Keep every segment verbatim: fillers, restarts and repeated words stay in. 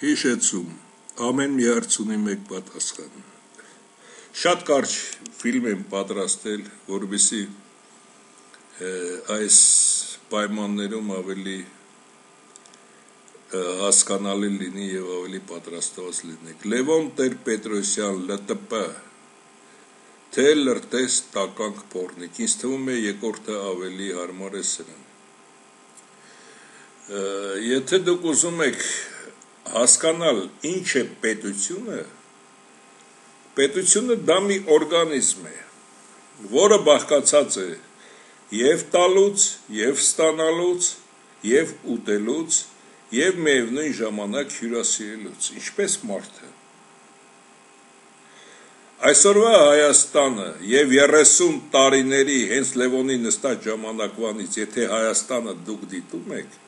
Հիշեցում, ամեն մի հարց ունի մեկ պատասխան։ Շատ կարճ ֆիլմ եմ պատրաստել, որովհետեւ այս պայմաններում ավելի հասկանալի լինի եւ ավելի պատրաստված լինեք։ Լևոն Տեր-Պետրոսյան, L T P, թե լրտես տականք փորնիկ, ինձ թվում է երկրորդը ավելի հարմար է սրան։ Եթե դուք ուզում եք հասկանալ ինչ է պետությունը, պետությունը դա մի օրգանիզմ է, որը բաղկացած է եւ տալուց, եւ ստանալուց, եւ ուտելուց, եւ միևնույն ժամանակ հյուրասիրելուց, ինչպես մարդը։ Այսօրվա Հայաստանը եւ երեսուն տարիների հենց Լևոնի նստած ժամանակվանից, եթե Հայաստանը դուք դիտում եք,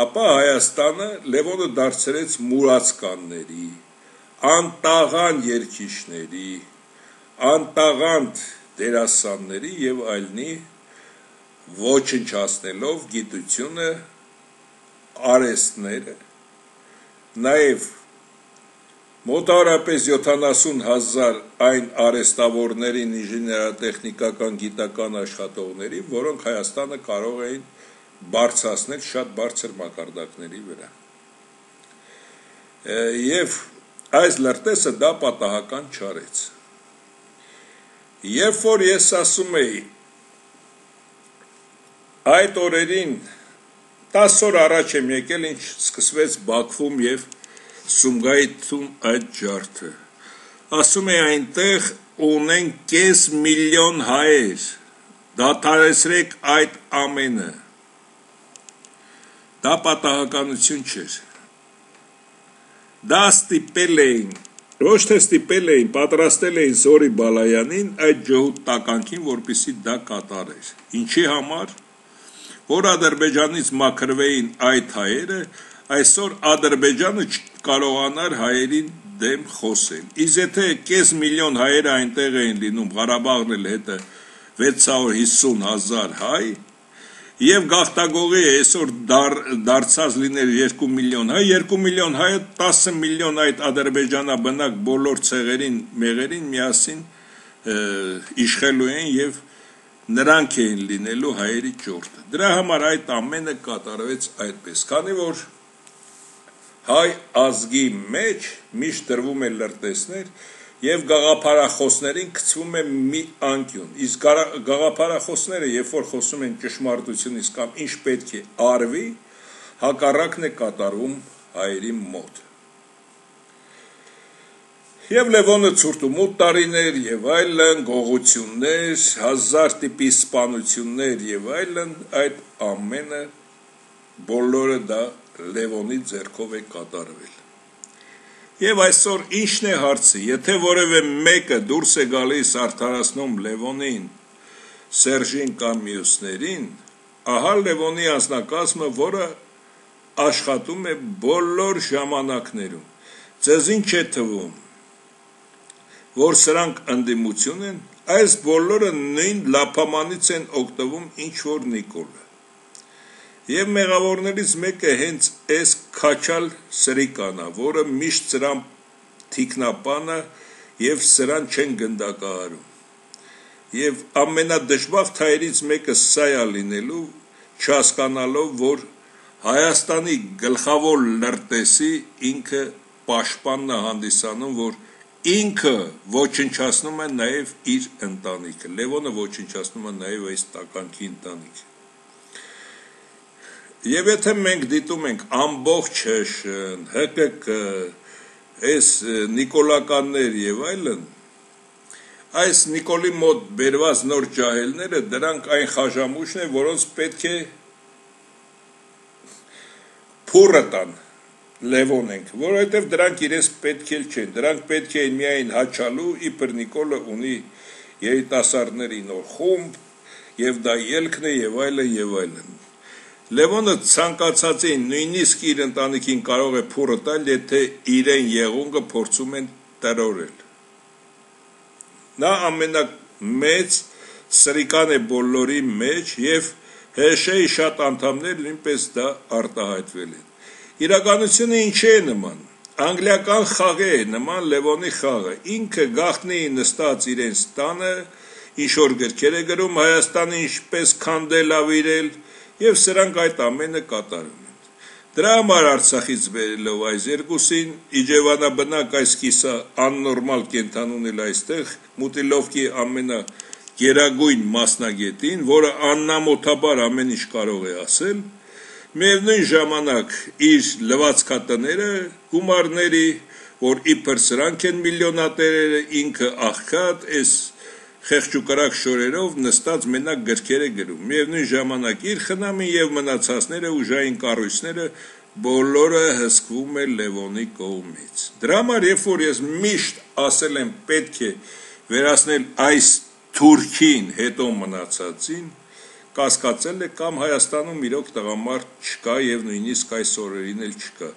ապա Հայաստանը Լևոնը դարձրեց մուրացկանների, անտաղան երգիչների, անտաղան դերասանների եւ այլնի ոչնչացնելով գիտությունը, արհեստները, նաեւ մոտավորապես յոթանասուն հազար այն արհեստավորներին, ինժեներատեխնիկական գիտական աշխատողների, որոնք Հայաստանը կարող էին բարձրացնել շատ բարձր մակարդակների վրա։ Եվ այս լրտեսը դա պատահական չարեց։ Երբ որ ես ասում էի այդ օրերին տասը օր առաջ եմ եկել, ինչ սկսվեց Բաքվում եւ Սումգայիթում այդ ջարդը, ասում էի այնտեղ ունեն կես միլիոն հայեր, դադարեցրեք այդ ամենը։ Դա պատահականություն չէր։ Դա ստիպել էին, ոչ թե ստիպել էին, պատրաստել էին Զորի Բալայանին այդ ջհուդ տականքին, որպեսզի դա կատարեր։ Ինչի համար, որ Ադրբեջանից մաքրվեին այդ հայերը, այսօր Ադրբեջանը կարողանար հայերին դեմ խոսել։ Իսկ եթե կես միլիոն հայեր այնտեղ էին լինում, Ղարաբաղն էլ հետը վեց հարյուր հիսուն հազար հայ, եւ գաղթագողի այսօր դար, դարձած լիներ երկու միլիոն հայ, երկու միլիոն հայը տասը միլիոն այդ ադրբեջանաբնակ բոլոր ցեղերին, մեղերին միասին իշխելու են եւ նրանք էին լինելու հայերի ճորտը։ Դրա համար այդ ամենը կատարվեց այդպես, քանի որ հայ ազգի մեջ միշտ դրվում է լրտեսներ եւ գաղափարախոսներին գցվում է մի անկյուն, իսկ գաղափարախոսները, երբ որ խոսում են ճշմարտությունից կամ ինչ պետք է արվի, հակառակն է կատարվում հայերի մոտ։ Եվ Լևոնը ցուրտումութ տարիներ եւ այլն, գողություններ, հազար տիպի սպանություններ եւ այլն, այդ ամենը բոլորը դա Լևոնի ձեռքով է կատարվել։ Եվ այսօր ինչն է հարցը, եթե որևէ մեկը դուրս է գալիս արդարացնում Լևոնին, Սերժին կամ մյուսներին, ահա Լևոնի անձնակազմը, որը աշխատում է բոլոր ժամանակներում։ Ձեզ ինչ է թվում, որ սրանք ընդդիմություն են, այս բոլորը նույն լափամանից են օգտվում ինչ որ Նիկոլը։ Եվ մեղավորներից մեկը հենց այս Քաչալ Սրիկանա, որը միշտ սրան թիկնապանը եւ սրան չեն գնդակահարում։ Եվ ամենադժբախտ հայերից մեկը սա է լինելու, չհասկանալով, որ Հայաստանի գլխավոր լրտեսի ինքը պաշտպանն է հանդիսանում, որ ինքը ոչնչացնում է նաեւ իր ընտանիքը։ Լևոնը ոչնչացնում է նաեւ այս տականքի ընտանիքը։ Եվ եթե մենք դիտում ենք ամբողջ ՀՇ-ն, ՀԿԿ, այս նիկոլականներ եւ այլն, այս Նիկոլի մոտ բերված նոր ջահելները, դրանք այն խաժամուշն են, որոնց պետք է փուրը տան Լևոնենք, որովհետեւ դրանք իրենց պետք էլ չեն, դրանք պետք են միայն հաչալու, իբր Նիկոլը ունի երիտասարդների նոր խումբ, եւ դա ելքն է եւ այլն եւ այլն։ Լևոնը ցանկացած է նույնիսկ իր ընտանիքին կարող է փուրը տալ, եթե իրեն եղունգը փորձում են տրորել։ Նա ամենամեծ սրիկան է բոլորի մեջ եւ ՀՇ-ի շատ անդամներ նույնպես դա արտահայտվել են։ Իրականությունը ինչի է նման, անգլիական խաղի է նման Լևոնի խաղը, ինքը գաղտնի նստած իրենց տանը, ինչ-որ գրքեր է գրում, Հայաստանը ինչպես քանդել ավիրել, և սրանք այդ ամենը կատարում են։ Դրա համար Արցախից բերելով այս երկուսին, իջևանաբնակ այս կիսա աննորմալ կենթանուն էլ այստեղ, Մուտիլովկի ամենա գերագույն մասնագետին, որը աննամոթաբար ամեն ինչ կարող է ասել, միևնույն ժամանակ իր լվացքատները, գումարների, որ իբր սրանք են միլիոնատերերը, ինքը աղքատ, այս խեղճուկրակ շորերով նստած մենակ գրքեր է գրում, միևնույն ժամանակ իր խնամին և մնացածները ուժային կառույցները բոլորը հսկվում է Լևոնի կողմից։ Դրա համար, երբ որ ես միշտ ասել եմ պետք է վերացնել այս թուրքին հետո մնացածին, կասկածել է կամ Հայաստանում իրոք տղամարդ չկա և նույնիսկ այս օրերին էլ չկա։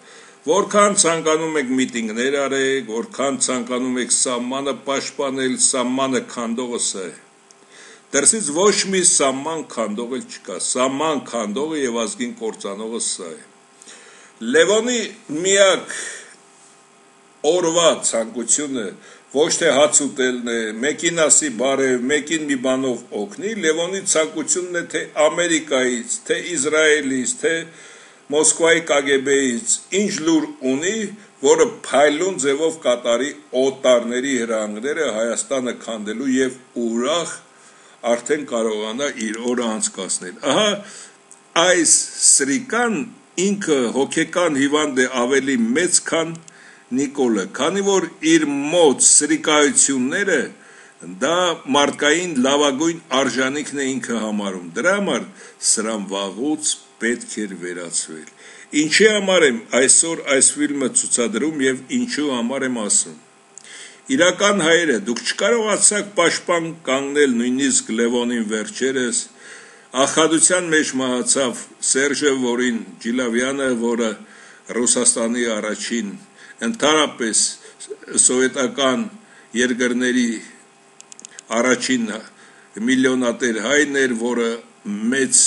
Որքան ցանկանում եք միտինգներ արեք, որքան ցանկանում եք սահմանը պաշտպանել, սահմանը քանդողը սա է։ Դրսից ոչ մի սահման քանդող էլ չկա, սահման քանդողը և ազգին կործանողը սա է։ Լևոնի միակ օրվա ցանկությունը ոչ թե հաց ուտելն է, մեկին ասի բարև, մեկին մի բանով օգնի, Լևոնի ցանկությունն է թե Ամերիկայից, թե Իսրայելից, թե Մոսկվայի կագեբեից ինչ լուր ունի, որը փայլուն ձևով կատարի օտարների հրահանգները Հայաստանը քանդելու և ուրախ արդեն կարողանա իր օրը անցկացնել։ Ահա այս սրիկան ինքը հոգեկան հիվանդ է ավելի մեծ, քան Նիկոլը, քանի որ իր մոտ սրիկայությունները դա մարդկային լավագույն արժանիքն է ինքը համարում, դրա համար սրան վաղուց պետք էր վերացվել։ Ինչի համար եմ այսօր այս ֆիլմը ցուցադրում և ինչու համար եմ ասում։ Իրական հայերը, դուք չկարողացաք պաշտպան կանգնել նույնիսկ Լևոնին վերջերս, աղքատության մեջ մահացավ Սերժը, որին Ջիլավյանը, որը Ռուսաստանի առաջին ընդհանրապես սովետական երկրների առաջին միլիոնատեր հայն էր, որը մեծ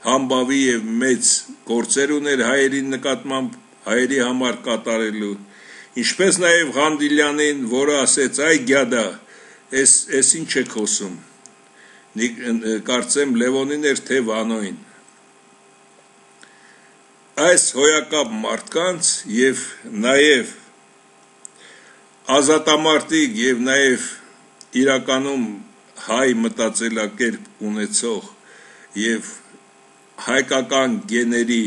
համբավի և մեծ գործեր ուներ հայերի նկատմամբ, հայերի համար կատարելու, ինչպես նաև Ղանդիլյանին, որը ասեց, այ գյադա, ես ինչ եք խոսում, կարծեմ Լևոնին էր թե Վանոյին։ Այս հոյակապ մարդկանց և նաև ազատամարտիկ և նաև իրականում հայ մտածելակերպ ունեցող և հայկական գեների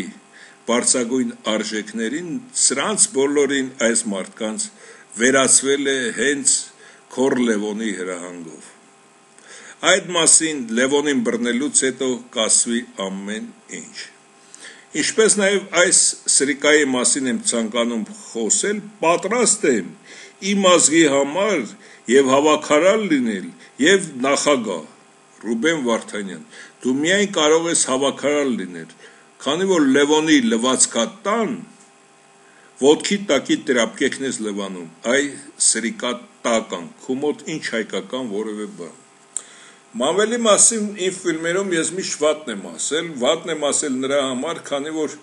բարձրագույն արժեքներին, սրանց բոլորին այս մարդկանց վերացվել է հենց քոռ Լևոնի հրահանգով։ Այդ մասին Լևոնին բռնելուց հետո կասվի ամեն ինչ։ Ինչպես նաև այս սրիկայի մասին եմ ցանկանում խոսել, պատրաստ եմ իմ ազգի համար և հավաքարար լինել, և նախագահ Ռուբեն Վարդանյան, դու միայն կարող ես հավաքարար լինել, քանի որ Լևոնի լվացքատան ոտքի տակի տրապկեքն ես լվանում, այ սրիկա տական, քո մոտ ինչ հայկական որևէ բան։ Մանվելի մասին իմ ֆիլմերում ես միշտ վատն եմ ասել, վատն եմ ասել նրա համար, քանի որ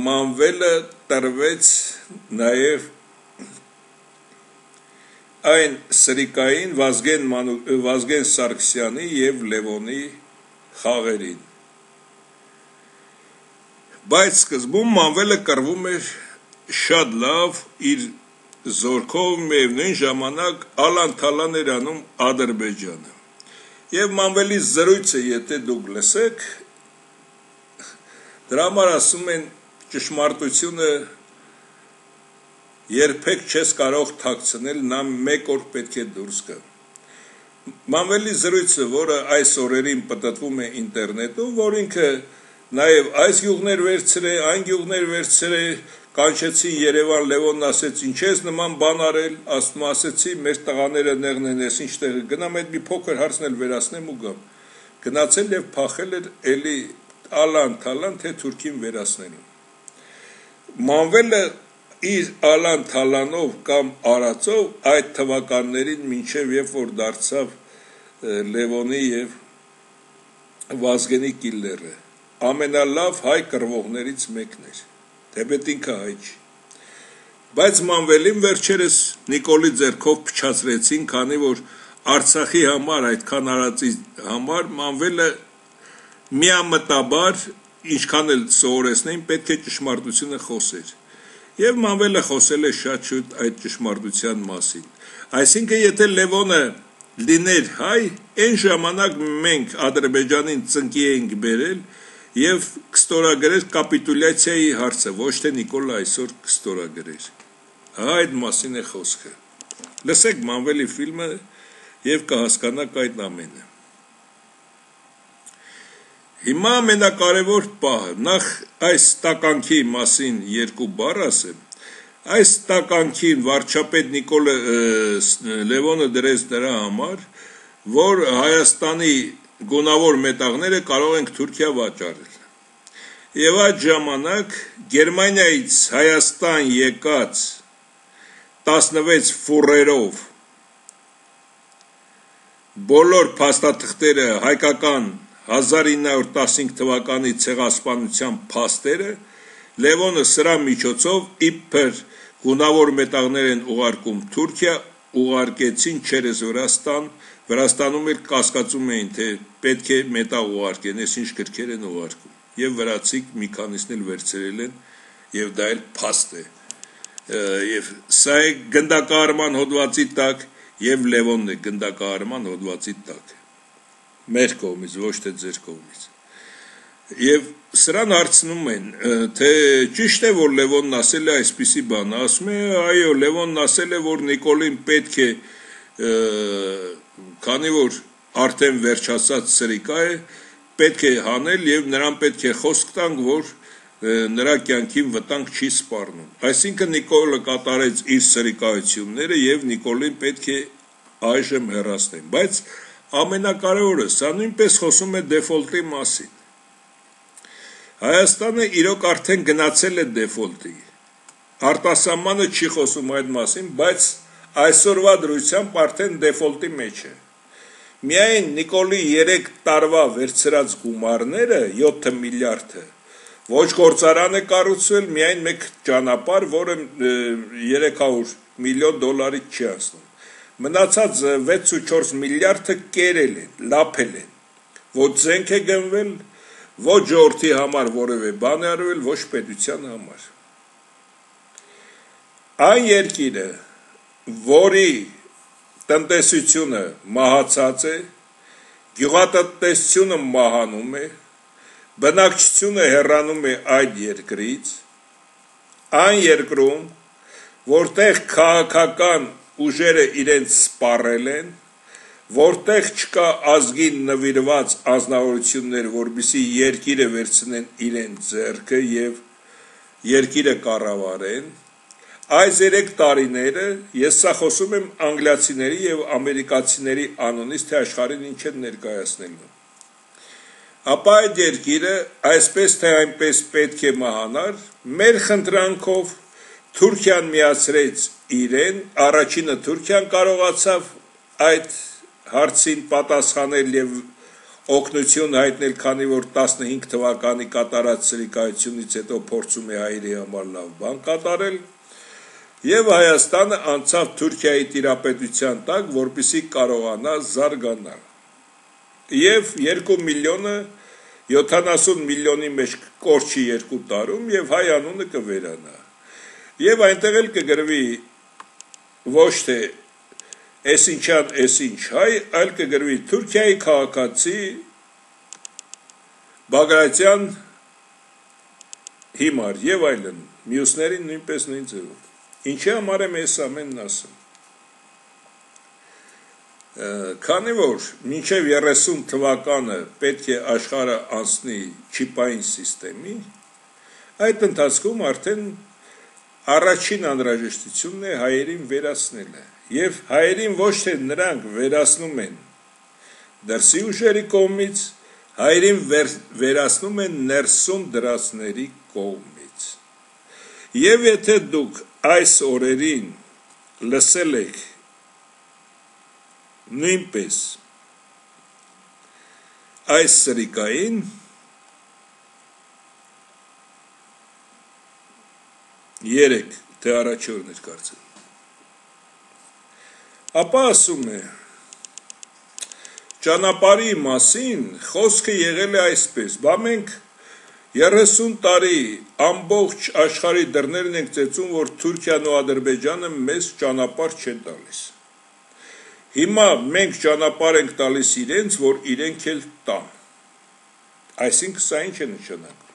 Մանվելը տրվեց նաև այն սրիկային Վազգեն, Մանու, Վազգեն Սարգսյանի և Լևոնի խաղերին։ Բայց սկզբում Մանվելը կռվում էր շատ լավ իր զորքով, միևնույն ժամանակ ալան-թալան էր անում Ադրբեջանը։ Եվ Մանվելի զրույցը, եթե դուք լսեք, դրա համար ասում են ճշմարտությունը երբեք չես կարող թաքցնել, նա մեկ օր պետք է դուրս գա։ Մանվելի զրույցը, որը այս օրերին պտտվում է ինտերնետում, որ ինքը նաև այս գյուղներ վերցրե, այն գյուղներ վերցրե, կանչեցին Երևան, Լևոնն ասեց, ինչ ես նման բան արել, ասում ասեցի, մեր տղաները նեղն են, ես ինչ տեղը գնամ, այդ մի փոքր հարցն էլ վերացնեմ ու գամ։ Գնացել և փախել էր էլի ալան-թալան, թե թուրքին վերացնելու։ Մանվելը իր ալան-թալանով կամ արածով այդ թվականներին մինչև երբ որ դարձավ Լևոնի և Վազգենի կիլլերը, ամենալավ հայ կռվողներից մեկն էր։ թեպետ ինքը հայ չի։ Բայց Մանվելին վերջերս Նիկոլի ձեռքով փչացրեցին, քանի որ Արցախի համար այդքան արածի համար Մանվելը միամտաբար ինչքան էլ սովորեցնեին պետք է ճշմարտությունը խոսեր։ Եվ Մանվելը խոսել է շատ շուտ այդ ճշմարտության մասին։ Այսինքն եթե Լևոնը լիներ հայ, այն ժամանակ մենք Ադրբեջանին ծնկի էինք բերել եւ կստորագրեր կապիտուլյացիայի հարցը, ոչ թե Նիկոլը այսօր կստորագրեր։ Այդ մասին է խոսքը։ Լսեք Մանվելի ֆիլմը եւ կհասկանաք այդ ամենը։ Հիմա ամենակարևոր պահը, նախ այս տականքի մասին երկու բառ ասեմ, այս տականքին վարչապետ Նիկոլը Լևոնը դրեց դրա համար, որ Հայաստանի գունավոր մետաղները կարող ենք Թուրքիա վաճառել։ Եվ այդ ժամանակ Գերմանիայից Հայաստան եկած տասնվեց ֆուրերով բոլոր փաստաթղթերը հայկական հազար ինը հարյուր տասնհինգ թվականի ցեղասպանության փաստերը Լևոնը սրա միջոցով իբր գունավոր մետաղներ են ուղարկում Թուրքիա, ուղարկեցին չերես Վրաստան, Վրաստանում էլ կասկածում էին, թե պետք է մետաղ ուղարկեն, ես ինչ գրքեր են ուղարկում, եւ վրացիք մի քանիսն էլ վերցրել են, եւ դա էլ փաստ է, եւ սա է գնդակահարման հոդվածի տակ, եւ Լևոնն է գնդակահարման հոդվածի տակ, մեր կողմից, ոչ թե ձեր կողմից, եւ սրան հարցնում են, թե ճիշտ է, որ Լևոնն ասել է այսպիսի բան, ասում է, այո, Լևոնն ասել է, որ Նիկոլին պետք է, քանի որ արդեն վերջացած սրիկա է, պետք է հանել եւ նրան պետք է խոսք տանք, որ նրա կյանքին վտանգ չի սպառնում։ Այսինքն Նիկոլը կատարեց իր սրիկայությունները եւ Նիկոլին պետք է այժմ հեռացնեն, բայց ամենակարևորը, սա նույնպես խոսում է դեֆոլտի մասին։ Հայաստանը իրոք արդեն գնացել է դեֆոլտի, արտասահմանը չի խոսում այդ մասին, բայց այսօրվա դրությամբ արդեն դեֆոլտի մեջ է։ Միայն Նիկոլի երեք տարվա վերցրած գումարները, յոթ միլիարդը, ոչ գործարան է կառուցվել, միայն մեկ ճանապարհ, որը երեք հարյուր միլիոն դոլարի չի հասնում։ Մնացած վեց ու չորս միլիարդը կերել են, լափել են, ոչ զենք է գնվել, ոչ ժողովրդի համար որևէ բան է արվել, ոչ պետության համար։ Այն երկիրը, որի տնտեսությունը մահացած է, գյուղատնտեսությունը մահանում է, բնակչությունը հեռանում է այդ երկրից, այն երկրում, որտեղ քաղաքական ուժերը իրենց սպառել են, որտեղ չկա ազգին նվիրված անձնավորություններ, որպեսզի երկիրը վերցնեն իրենց ձեռքը եւ երկիրը կառավարեն, այս երեք տարիները ես սա խոսում եմ անգլիացիների եւ ամերիկացիների անունից, թե աշխարհին ինչ են ներկայացնելու։ Ապա այդ երկիրը այսպես թե այնպես պետք է մահանար, մեր խնդրանքով Թուրքիան միացրեց իրեն, առաջինը Թուրքիան կարողացավ այդ հարցին պատասխանել եւ օգնություն հայտնել, քանի որ տասնհինգ թվականի կատարած սրիկայությունից հետո փորձում է հայերի համար լավ բան կատարել, եւ Հայաստանը անցավ Թուրքիայի տիրապետության տակ, որպեսզի կարողանա զարգանալ։ Եվ երկու միլիոնը յոթանասուն միլիոնի մեջ կորչի երկու տարում եւ հայ անունը կվերանա։ Եվ այնտեղ էլ կգրվի ոչ թե այսինչան այսինչ հայ, այլ կգրվի Թուրքիայի քաղաքացի Բագրատյան հիմար եւ այլն, մյուսներին նույնպես նույն ձևով։ Ինչի համար եմ այս ամենն ասում։ Քանի որ մինչև երեսուն թվականը պետք է աշխարհը անցնի չիպային սիստեմի, այդ ընթացքում արդեն առաջին անհրաժեշտությունն է հայերին վերացնելը, եւ հայերին ոչ թե նրանք վերացնում են դրսի ուժերի կողմից, հայերին վեր, վերացնում են ներսում դրածների կողմից։ Եվ եթե դուք այս օրերին լսել եք նույնպես այս սրիկային, երեք, թե առաջի օրն էր կարծեմ։ Ապա ասում է, ճանապարհի մասին խոսքը եղել է այսպես, բա մենք երեսուն տարի ամբողջ աշխարհի դռներն ենք ծեծում, որ Թուրքիան ու Ադրբեջանը մեզ ճանապարհ չեն տալիս։ Հիմա մենք ճանապարհ ենք տալիս իրենց, որ իրենք էլ տան։ Այսինքն սա ինչ է նշանակում։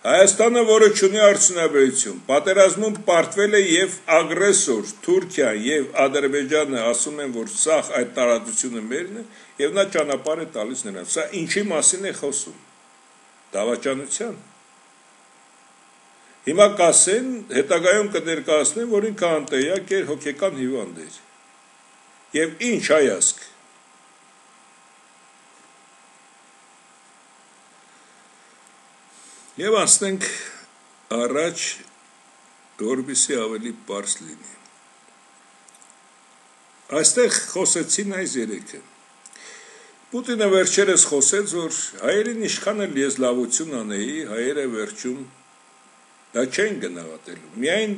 Հայաստանը, որը չունի արդյունաբերություն, պատերազմում պարտվել է եւ ագրեսոր Թուրքիան եւ Ադրբեջանը ասում են, որ սա այդ տարածությունը մերն է եւ նա ճանապարհ է տալիս նրանց։ Սա ինչի մասին է խոսում։ Դավաճանության։ Հիմա կասեն, հետագայում կներկայացնեն, որ ինքը անտեղյակ էր, հոգեկան հիվանդ էր։ Եվ ինչ հայացք։ Եվ անցնենք առաջ, որպեսզի ավելի պարզ լինի։ Այստեղ խոսեցին այս երեքը։ Պուտինը վերջերս խոսեց, որ հայերին ինչքան էլ ես լավություն անեի, հայերը վերջում դա չեն գնահատելու։ Միայն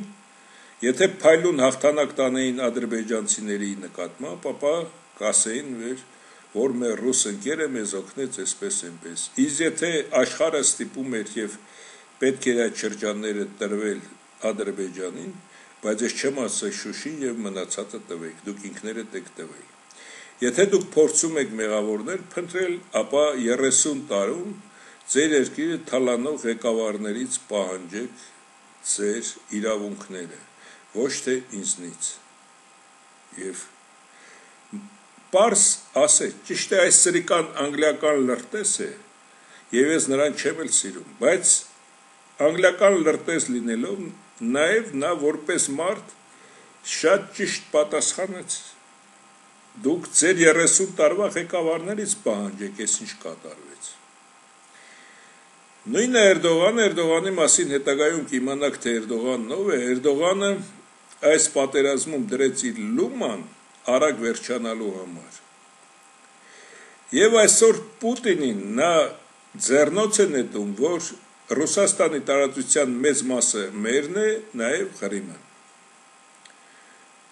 եթե փայլուն հաղթանակ տանեին ադրբեջանցիների նկատմամբ, ապա կասեին, որ մեր ռուս ընկերը մեզ օգնեց այսպես այնպես։ Իսկ եթե աշխարհը ստիպում էր եւ պետք էր այդ շրջանները տրվել Ադրբեջանին, բայց ես չեմ ասել Շուշին եւ մնացածը տվեք, դուք ինքներդ եք տվել։ Եթե դուք փորձում եք մեղավորներ փնտրել, ապա երեսուն տարում ձեր երկիրը թալանող ղեկավարներից պահանջեք ձեր իրավունքները, ոչ թե ինձնից։ Եվ պարզ ասեք, ճիշտ է այս սրիկան անգլիական լրտես է, եւ ես նրան չեմ էլ սիրում, բայց անգլիական լրտես լինելով, նաեւ նա որպես մարդ շատ ճիշտ պատասխանեց։ Դուք ձեր երեսուն տարվա ղեկավարներից պահանջեք, ես ինչ կատարվեց։ Նույնը Էրդողանը, Էրդողանի մասին հետագայում կիմանաք, թե Էրդողանն ով է, Էրդողանը այս պատերազմում դրեց իր լուման արագ վերջանալու համար։ Եվ այսօր Պուտինին նա ձեռնոց է նետում, որ Ռուսաստանի տարածության մեծ մասը մերն է, նաև Ղրիմը։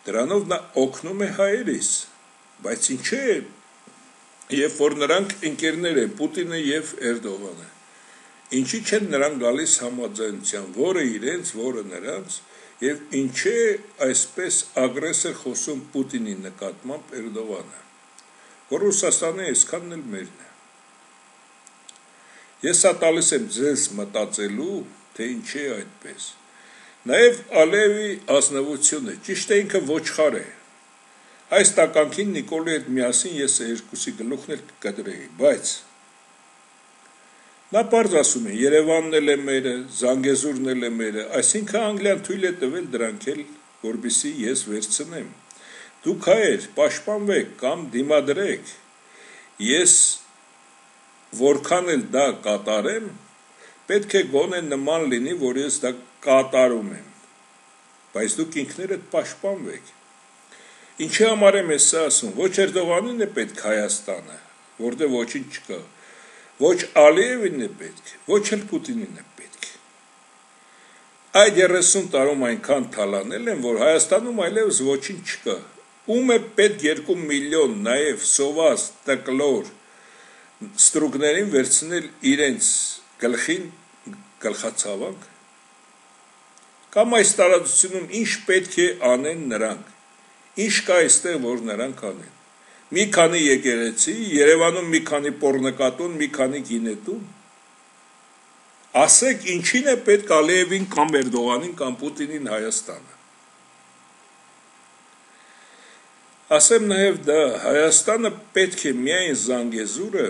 Դրանով նա օգնում է հայերիս, բայց ինչ է, երբ որ նրանք ընկերներ են, Պուտինը եւ Էրդողանը, ինչի չեն նրանք գալիս համաձայնության, որը իրենց, որը նրանց, եւ ինչ է այսպես ագրեսոր խոսում Պուտինի նկատմամբ Էրդողանը, որ Ռուսաստանը այսքանն էլ մերն է։ Ես սա տալիս եմ ձեզ մտածելու, թե ինչ է այդպես։ Նաև Ալիևի ազնվությունը, ճիշտ է ինքը ոչխար է։ Այս տականքին Նիկոլի հետ միասին ես երկուսի գլուխն էլ կկտրեի, բայց նա պարզ ասում է, Երևանն էլ է մերը, Զանգեզուրն էլ է մերը, այսինքն Անգլիան թույլ է տվել դրանք էլ, որպեսզի ես վերցնեմ։ Դուք հայեր պաշտպանվեք կամ դիմադրեք, ես որքան էլ դա կատարեմ, պետք է գոնե նման լինի, որ ես դա կատարում եմ, բայց դուք ինքներդ պաշտպանվեք։ Ինչի համար եմ ես ասում, ոչ Էրդողանին է պետք Հայաստանը, որտեղ ոչինչ չկա, ոչ Ալիևին է պետք, ոչ էլ Պուտինին է պետք։ Այդ երեսուն տարում այնքան թալանել են, որ Հայաստանում այլևս ոչինչ չկա։ Ում է պետք երկու միլիոն նաև սոված տկլոր ստրուկներին վերցնել իրենց գլխին գլխացավանք, կամ այս տարածությունում ինչ պետք է անեն նրանք, ինչ կա այստեղ, որ նրանք անեն։ Մի քանի եկեղեցի, Երևանում մի քանի պոռնկատուն, մի քանի գինետուն։ Ասեք, ինչին է պետք Ալիևին կամ Էրդողանին կամ Պուտինին Հայաստանը։ Ասեմ նաև դա, Հայաստանը պետք է միայն Զանգեզուրը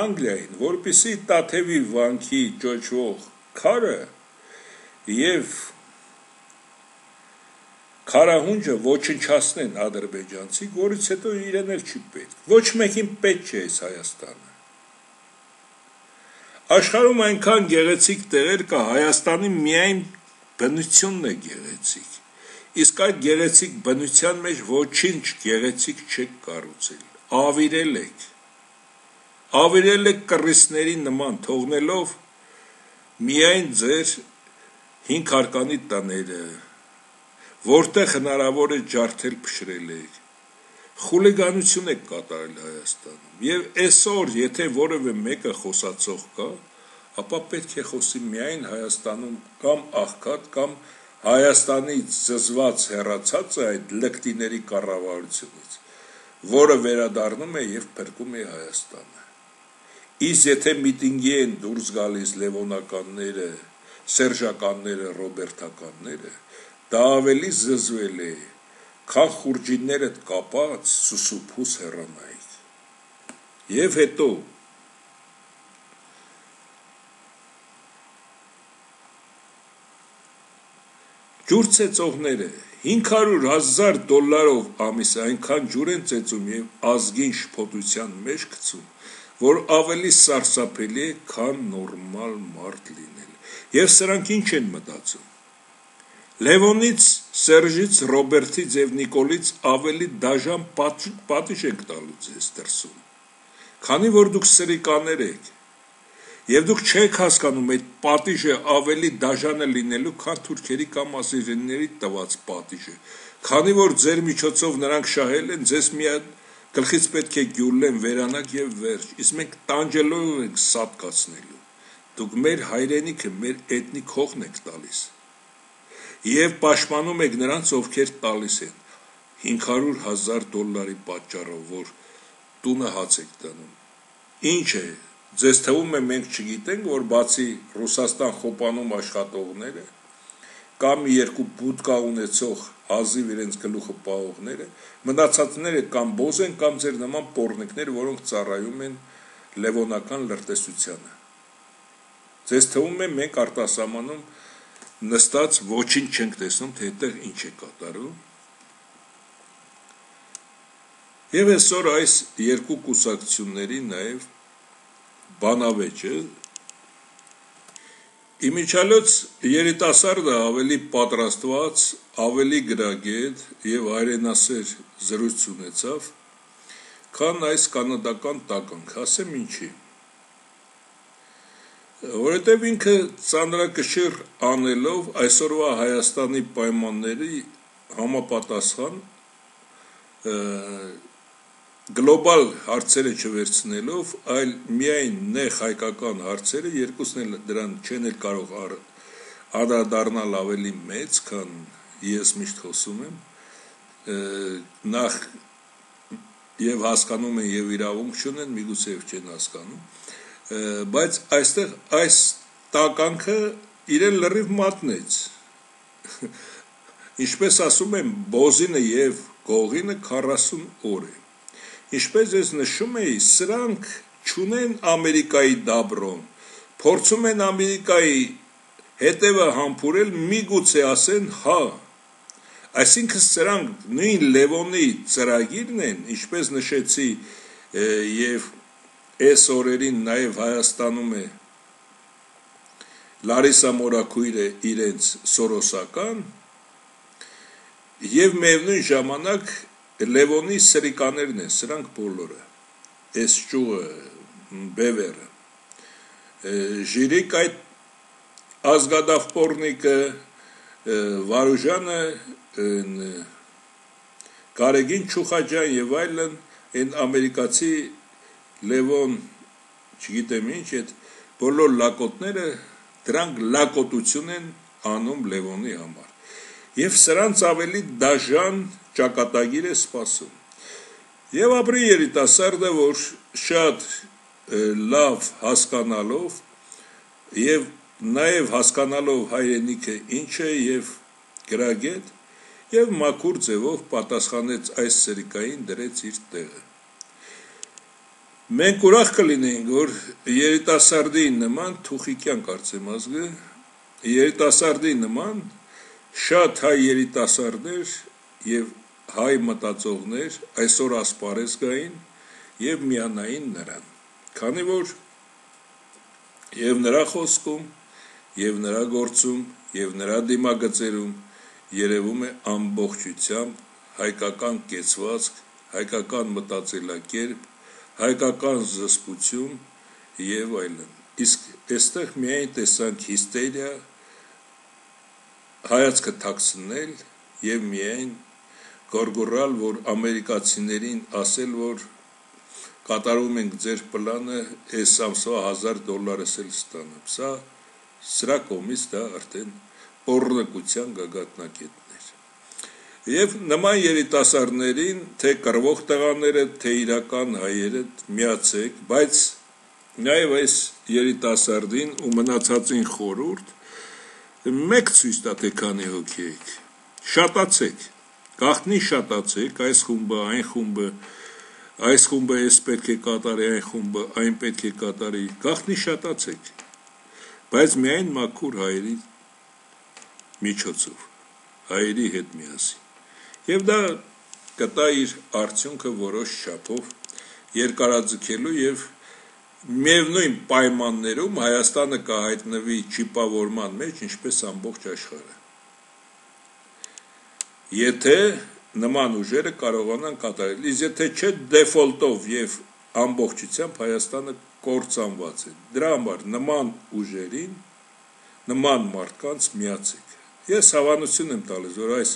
Անգլիային, որպեսզի Տաթևի վանքի ճոճվող քարը եւ քարահունջը ոչնչացնեն ադրբեջանցի, որից հետո իրեն էլ չի պետք։ Ոչ մեկին պետք չէ այս Հայաստանը։ Աշխարհում այնքան գեղեցիկ տեղեր կա, Հայաստանի միայն բնությունն է գեղեցիկ։ Իսկ այդ գեղեցիկ բնության մեջ ոչինչ գեղեցիկ չեք կառուցել, ավիրել եք, ավիրել եք կռիսների նման, թողնելով միայն ձեր հինգ հարկանի տները, որտեղ հնարավոր է ջարդել փշրել եք, խուլիգանություն եք կատարել Հայաստանում, եւ այսօր, եթե որևէ մեկը խոսացող կա, ապա պետք է խոսի միայն Հայաստանում կամ աղքատ, կամ Հայաստանից զզված հեռացած է այդ լկտիների կառավարությունից, որը վերադառնում է եւ փրկում է Հայաստանը։ Իսկ եթե միտինգի են դուրս գալիս լևոնականները, սերժականները, ռոբերտականները, դա ավելի զզվել է, քան խուրջիններդ կապած սուսուփուս հեռանայիք։ Եվ հետո ջուր ծեծողները հինգ հարյուր հազար դոլարով ամիս այնքան ջուր են ծեծում եւ ազգին շփոթության մեջ գցում, որ ավելի սարսափելի է, քան նորմալ մարդ լինել։ Եվ սրանք ինչ են մտածում։ Լևոնից, Սերժից, Ռոբերտից եւ Նիկոլից ավելի դաժան պատիժ եք տալու ձեզ դրսում, քանի որ դուք սրիկաներ եք։ Եվ դուք չեք հասկանում այդ պատիժը ավելի դաժան է լինելու, քան թուրքերի կամ ասիրիների տված պատիժը, քանի որ ձեր միջոցով նրանք շահել են, ձեզ միայն գլխից պետք է գյուլեն, վերանակ եւ վերջ, իսկ մենք տանջելով ենք սատկացնելու։ Դուք մեր հայրենիքը, մեր էթնիկ հողն եք տալիս։ Եվ պաշտպանում եք նրանց, ովքեր տալիս են հինգ հարյուր հազար դոլարի պատճառով, որ տունը հաց եք տանում։ Ինչ է, ձեզ թվում է մենք չգիտենք, որ բացի Ռուսաստան խոպանում աշխատողները կամ երկու բուդկա ունեցող հազիվ իրենց գլուխը պահողները, մնացածները կամ բոզ են, կամ ձեր նման պոռնիկներ, որոնք ծառայում են լևոնական լրտեսությանը։ Ձեզ թվում է մենք արտասահմանում նստած ոչինչ չենք տեսնում, թե այդտեղ ինչ է կատարում։ Եվ այսօր այս երկու կուսակցությունների նաև բանավեճը իմիջիալոց երիտասարդը ավելի պատրաստված, ավելի գրագետ եւ հայրենասեր զրույց ունեցավ, քան այս կանադական տականք, ասեմ ինչի։ Որովհետեւ ինքը ծանրակշիռ անելով այսօրվա Հայաստանի պայմանների համապատասխան գլոբալ հարցերը չվերցնելով, այլ միայն նեղ հայկական հարցերը, երկուսն էլ դրան չեն էլ կարող անդրադառնալ ավելի մեծ, քան ես միշտ խոսում եմ, նախ եւ հասկանում են եւ իրավունք չունեն, միգուցե եւ չեն հասկանում, բայց այստեղ այս տականքը իրեն լրիվ մատնեց։ Ինչպես ասում են, բոզինը եւ գողինը քառասուն օր է։ Ինչպես ես նշում էի, սրանք չունեն Ամերիկայի դաբրոն, փորձում են Ամերիկայի հետևը համբուրել, միգուցե ասեն հա, այսինքն սրանք նույն Լևոնի ծրագիրն են, ինչպես նշեցի եւ այս օրերին նաեւ Հայաստանում է Լարիսա Մորաքույրը իրենց սորոսական եւ միևնույն ժամանակ Լևոնի սրիկաներն են, սրանք բոլորը, այս ճուղը, բևերը, ժիրիկ այդ ազգադավպորնիկը, Վարուժանը, Կարեգին Չուխաջան եւ այլն, այն ամերիկացի Լևոն, չգիտեմ ինչ, այդ բոլոր լակոտները, դրանք լակոտություն են անում Լևոնի համար։ Եվ սրանց ավելի դաժան ճակատագիր է սպասում։ Եվ ապրի երիտասարդը, որ շատ լավ հասկանալով եւ նաեւ հասկանալով հայրենիքը ինչ է եւ գրագետ եւ մաքուր ձևով պատասխանեց այս սրիկային, դրեց իր տեղը։ Մենք ուրախ կլինենք, որ երիտասարդի նման Թուխիկյան կարծեմ ազգը, երիտասարդի նման շատ հայ երիտասարդներ եւ հայ մտածողներ այսօր ասպարեզ գային եւ միանային նրան, քանի որ եւ նրա խոսքում եւ նրա գործում եւ նրա դիմագծերում երևում է ամբողջությամբ հայկական կեցվածք, հայկական մտածելակերպ, հայկական զսպություն եւ այլն։ Իսկ այստեղ միայն տեսանք հիստերիա, հայացքը թաքցնել եւ միայն գորգորալ, որ ամերիկացիներին ասել, որ կատարում ենք ձեր պլանը, այս ամսվա հազար դոլարս էլ ստանամ։ Սա սրա կողմից դա արդեն պոռնկության գագաթնակետն էր։ Եվ նման երիտասարդներին, թե կռվող տղաները, թե իրական հայերը միացեք, բայց նաև այս երիտասարդին ու մնացածին խորհուրդ մեկ ցույց տա, թե քանի հոգի եք, շատացեք, գաղտնի շատացեք, այս խումբը, այն խումբը, այս խումբը այս պետք է կատարի, այն խումբը, այն պետք է կատարի, գաղտնի շատացեք, բայց միայն մաքուր հայերի միջոցով, հայերի հետ միասին։ Եվ դա կտա իր արդյունքը որոշ չափով երկարաձգելու եւ միևնույն պայմաններում Հայաստանը կհայտնվի չիպավորման մեջ, ինչպես ամբողջ աշխարհը։ Եթե նման ուժերը կարողանան կատարել, իսկ եթե չէ դեֆոլտով եւ ամբողջությամբ Հայաստանը կործանված է։ Դրա համար նման ուժերին, նման մարդկանց միացեք։ Ես հավանություն եմ տալիս, որ այս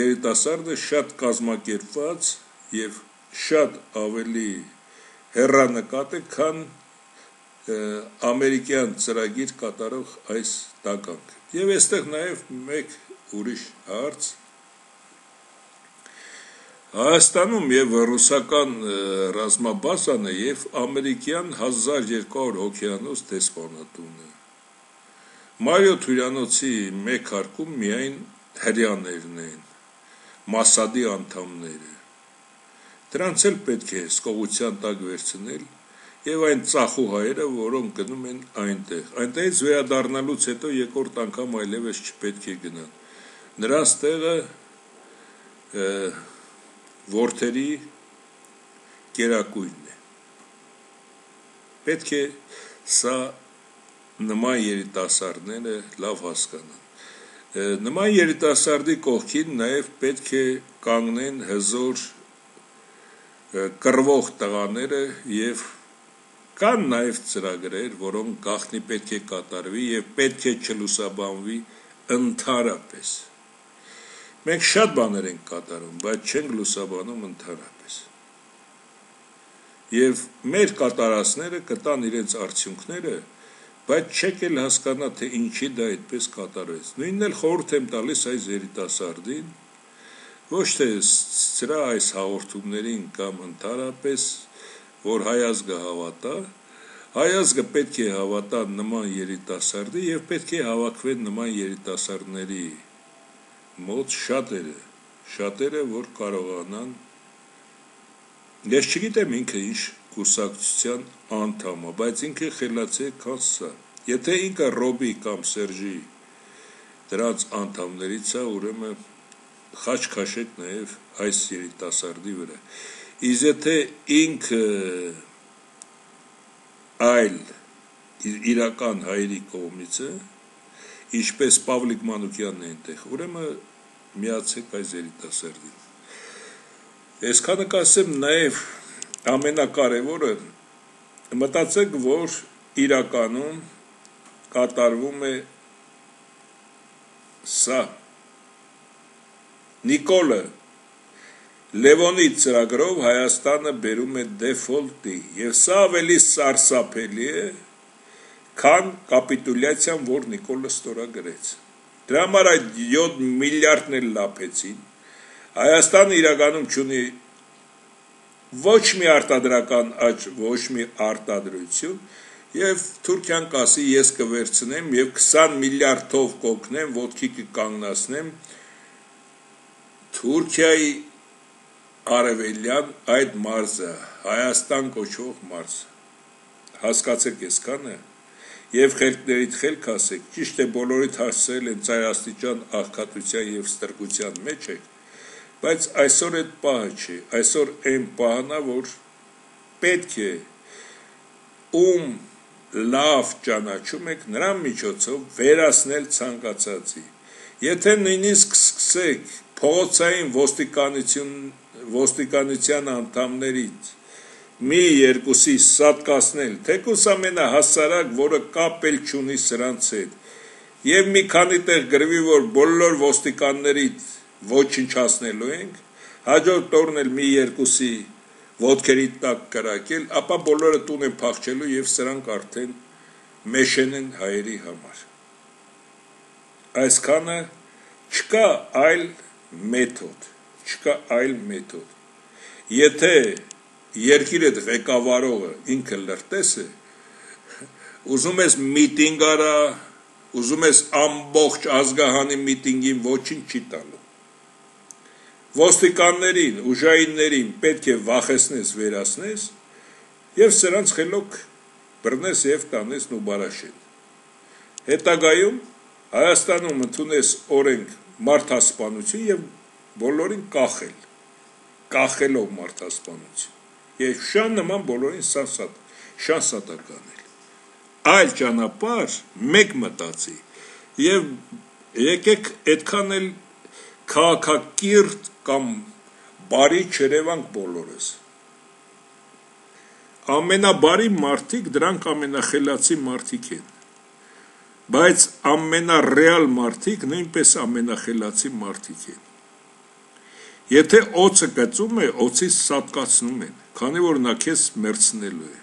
երիտասարդը շատ կազմակերպված եւ շատ ավելի հեռանկատ է, քան ամերիկյան ծրագիր կատարող այս տականք։ Եվ այստեղ նաև մեկ ուրիշ հարց։ Հայաստանում եւ ռուսական ռազմաբազան է եւ ամերիկյան հազար երկու հարյուր հոգեանոց դեսպանատունը։ Մարիոթ հյուրանոցի մեկ հարկում միայն հրեաներն են, Մասադի անդամները։ Դրանց էլ պետք է սկողության տակ վերցնել եւ այն ծախու հայերը, որոնք գնում են այնտեղ։ Այնտեղից վերադառնալուց հետո երկրորդ անգամ այլևս չպետք է գնան։ Նրանց տեղը որդերի կերակույնն է։ Պետք է սա նման երիտասարդները լավ հասկանան։ Նման երիտասարդի կողքին նաև պետք է կանգնեն հզոր կռվող տղաները եւ կան նաև ծրագրեր, որոնք գաղտնի պետք է կատարվի եւ պետք է չլուսաբանվի ընդհանրապես։ Մենք շատ բաներ ենք կատարում, բայց չենք լուսաբանում ընդհանրապես։ Եվ մեր կատարածները կտան իրենց արդյունքները, բայց չեք էլ հասկանա, թե ինչի դա այդպես կատարվեց։ Նույնն էլ խորհուրդ եմ տալիս այս երիտասարդին, ոչ թե սրա այս հաղորդումներին կամ ընդհանրապես, որ հայ ազգը հավատա, հայ ազգը պետք է հավատա նման երիտասարդի եւ պետք է հավաքվեն նման երիտասարդների մոտ շատերը, շատերը, որ կարողանան, ես չգիտեմ ինքը ինչ կուսակցության անդամ է, բայց ինքը խելացի է, քան սա։ Եթե ինքը Ռոբի կամ Սերժի դրանց անդամներից է, ուրեմն խաչ քաշեք նաև այս երիտասարդի վրա։ Իսկ եթե ինքը այլ իրական հայերի կողմից է, ինչպես Պավլիկ Մանուկյանն է այնտեղ, ուրեմն միացեք այս երիտասարդին։ Այսքանը կասեմ նաև ամենակարևորը, մտածեք, որ իրականում կատարվում է սա։ Նիկոլը Լևոնի ծրագրով Հայաստանը բերում է դեֆոլտի, եւ սա ավելի սարսափելի է, քան կապիտուլյացիան, որ Նիկոլը ստորագրեց։ Դրա համար այդ յոթ միլիարդն էլ լափեցին։ Հայաստանը իրականում չունի ոչ մի արտադրական աճ, ոչ մի արտադրություն, եւ Թուրքիան կասի ես կվերցնեմ եւ քսան միլիարդով կօգնեմ, ոտքի կկանգնացնեմ Թուրքիայի արևելյան այդ մարզը, Հայաստան կոչվող մարզ։ Հասկացեք այսքանը եւ խելքներիդ խելք ասեք, ճիշտ է բոլորիդ հասցրել են ծայրաստիճան աղքատության եւ ստրկության մեջ եք, բայց այսօր այդ պահը չի, այսօր այն պահն է, որ պետք է ում լավ ճանաչում եք նրան միջոցով վերացնել ցանկացածի։ Եթե նույնիսկ սկսեք փողոցային ոստիկանություն ոստիկանության անդամներից մի երկուսի սատկացնել, թեկուզ ամենահասարակ, որը կապ էլ չունի սրանց հետ, եւ մի քանի տեղ գրվի, որ բոլոր ոստիկաններից ոչնչացնելու ենք, հաջորդ օրն էլ մի երկուսի ոտքերի տակ կրակել, ապա բոլորը տուն են փախչելու եւ սրանք արդեն մեշեն են հայերի համար։ Այսքանը չկա այլ մեթոդ, չկա այլ մեթոդ։ Եթե երկիրը ղեկավարողը ինքը լրտես է, ուզում ես միտինգ արա, ուզում ես ամբողջ ազգահանի միտինգին ոչինչ չի տալու։ Ոստիկաններին, ուժայիններին պետք է վախեցնես, վերացնես եւ սրանց խելոք բռնես եւ տանես ու բարաշեն։ Հետագայում Հայաստանում ընդունես օրենք մարդասպանություն եւ բոլորին կախել, կախելով մարդասպանություն եւ շան նման բոլորին սանսատ, շանսատակ անել։ Այլ ճանապարհ մեկ մտածի եւ եկեք այդքան էլ քաղաքակիրթ կամ բարի չերևանք բոլորս։ Ամենաբարի մարդիկ դրանք ամենախելացի մարդիկ են, բայց ամենառեալ մարդիկ նույնպես ամենախելացի մարդիկ են։ Եթե օծը կծում է, օծից սատկացնում են, քանի որ նա քեզ մերցնելու է։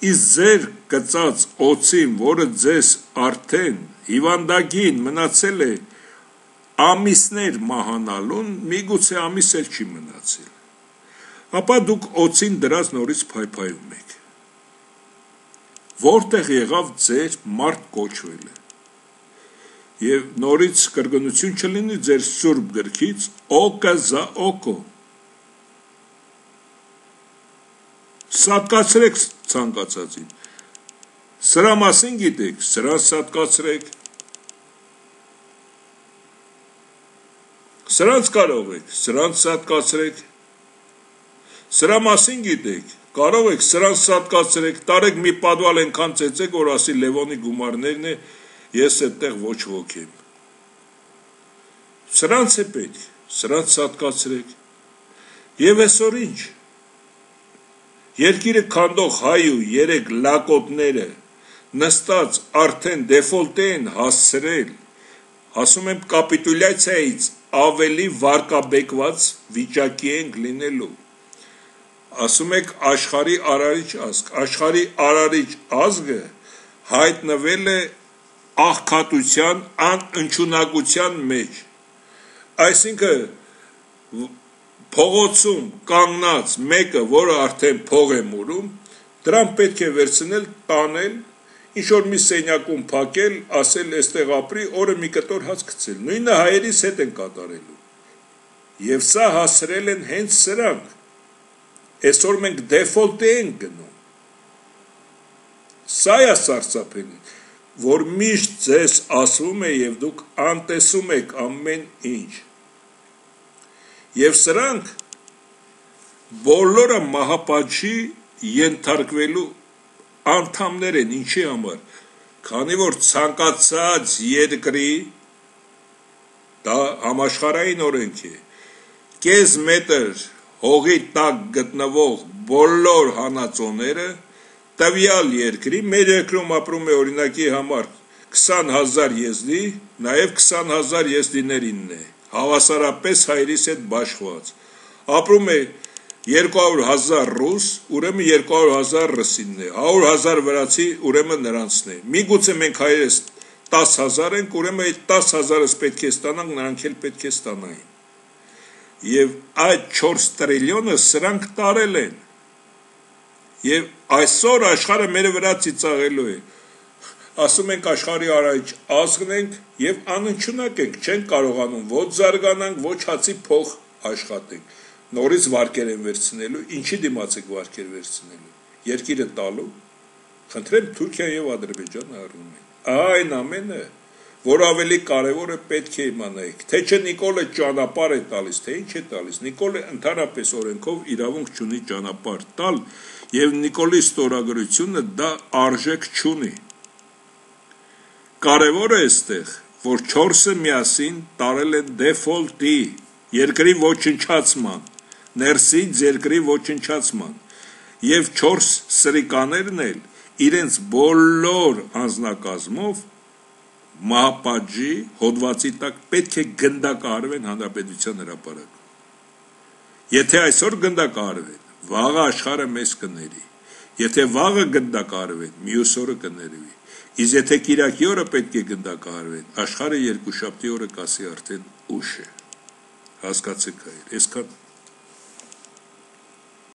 Իսկ ձեր կծած օծին, որը ձեզ արդեն հիվանդագին մնացել է ամիսներ մահանալուն, միգուցե ամիս էլ չի մնացել, ապա դուք օծին դրած նորից փայփայում եք։ Որտեղ եղավ ձեր մարդ կոչվելը։ Եվ նորից կրկնություն չլինի ձեր սուրբ գրքից, օկը զա օկո։ Սատկացրեք ցանկացածին։ Սրա մասին գիտեք, սրան սատկացրեք։ Սրանց կարող եք, սրանց սատկացրեք։ Սրա մասին գիտեք, կարող եք սրանց սատկացրեք, տարեք մի պատվալ ենքան ծեցեք, որ ասի Լևոնի գումարներն է, ես այդտեղ ոչ ոք եմ։ Սրանց է պետք, սրանց սատկացրեք։ Եվ այսօր ինչ։ Երկիրը քանդող հայ ու երեք լակոտները նստած արդեն դեֆոլտ են հասցրել, ասում եմ կապիտուլյացիայից ավելի վարկաբեկված վիճակի ենք լինելու։ Ասում եք աշխարհի արարիչ ազգ, աշխարհի արարիչ ազգը հայտնվել է աղքատության, անընդունակության մեջ։ Այսինքն փողոցում կանգնած մեկը, որը արդեն փող է մուրում, դրան պետք է վերցնել, տանել, ինչ-որ մի սենյակում փակել, ասել էստեղ ապրի, օրը մի կտոր հաց գցել։ Նույնը հայերիս հետ են կատարելու։ Եվ սա հասրել են հենց սրանք։ Այսօր մենք դեֆոլտ ենք գնում։ Սա է սարսափելին, որ միշտ ձեզ ասվում է եւ դուք անտեսում եք ամեն ինչ։ Եվ սրանք բոլորը մահապատժի ենթարկվելու անդամներ են, ինչի համար, քանի որ ցանկացած երկրի դա համաշխարհային օրենք է, կես մետր հողի տակ գտնվող բոլոր հանածոները տվյալ երկրի, մեր երկրում ապրում է օրինակի համար քսան հազար եզդի, նաև քսան հազար եզդիներինն է, հավասարապես հայրիս հետ բաշխված, ապրում է երկու հարյուր հազար ռուս, ուրեմն երկու հարյուր հազար ռուսինն է, հարյուր հազար վրացի, ուրեմն նրանցն է, միգուցե մենք հայերս տասը հազար ենք, ուրեմն այդ տասը հազարս պետք է ստանանք, նրանք էլ պետք է ստանային։ Եվ այդ չորս տրիլիոնը սրանք տարել են։ Եվ այսօր աշխարհը մեր վրա ծիծաղելու է։ Ասում ենք աշխարհի արարիչ ազգն ենք եւ անընդունակ ենք, չենք կարողանում ոչ զարգանանք, ոչ հացի փող աշխատենք։ Նորից վարկեր են վերցնելու, ինչի դիմաց եք վարկեր վերցնելու։ Երկիրը տալու։ Խնդրեմ Թուրքիա եւ Ադրբեջանը առնում են։ Այն ամենը, որ ավելի կարևորը պետք է իմանայիք, թե չէ Նիկոլը ճանապարհ է տալիս, թե ինչ է տալիս։ Նիկոլը ընդհանրապես օրենքով իրավունք չունի ճանապարհ տալ, եւ Նիկոլի ստորագրությունը դա արժեք չունի։ Կարևորը էստեղ, որ չորսը միասին տարել են դեֆոլտի, երկրի ոչնչացման, ներսից երկրի ոչնչացման, եւ չորս սրիկաներն էլ իրենց բոլոր անձնակազմով մահապատժի հոդվածի տակ պետք է գնդակահարվեն հանրապետության հրապարակը։ Եթե այսօր գնդակահարվեն, վաղը աշխարհը մեզ կների, եթե վաղը գնդակահարվեն, մյուս օրը կներվի, իսկ եթե կիրակի օրը պետք է գնդակահարվեն, աշխարհը երկուշաբթի օրը կասի արդեն ուշ է, հասկացեք հայր, այսքան